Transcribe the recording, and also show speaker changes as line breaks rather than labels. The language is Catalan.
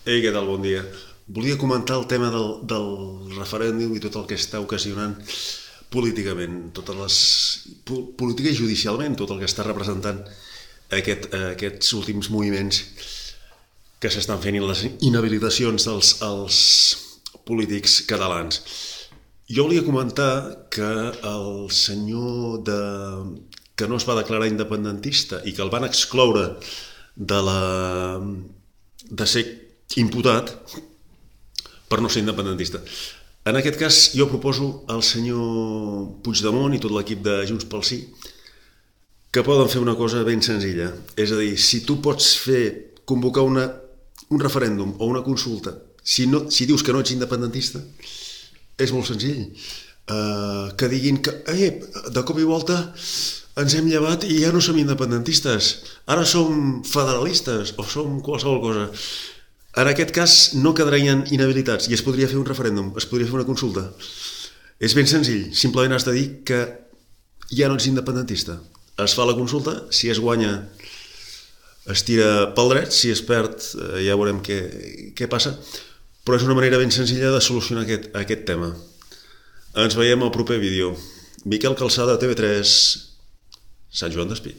Ei, què tal? Bon dia. Volia comentar el tema del referèndum i tot el que està ocasionant políticament, política i judicialment, tot el que està representant aquests últims moviments que s'estan fent i les inhabilitacions dels polítics catalans. Jo volia comentar que el senyor que no es va declarar independentista i que el van excloure de ser imputat per no ser independentista. En aquest cas jo proposo al senyor Puigdemont i tot l'equip de Junts pel Sí que poden fer una cosa ben senzilla. És a dir, si tu pots convocar un referèndum o una consulta, si dius que no ets independentista, és molt senzill. Que diguin que de cop i volta ens hem llevat i ja no som independentistes, ara som federalistes o som qualsevol cosa. En aquest cas no quedarien inhabilitats i es podria fer un referèndum, es podria fer una consulta. És ben senzill, simplement has de dir que ja no ets independentista. Es fa la consulta, si es guanya es tira pel dret, si es perd ja veurem què passa, però és una manera ben senzilla de solucionar aquest tema. Ens veiem al proper vídeo. Miquel Calçada, TV3, Sant Joan Despí.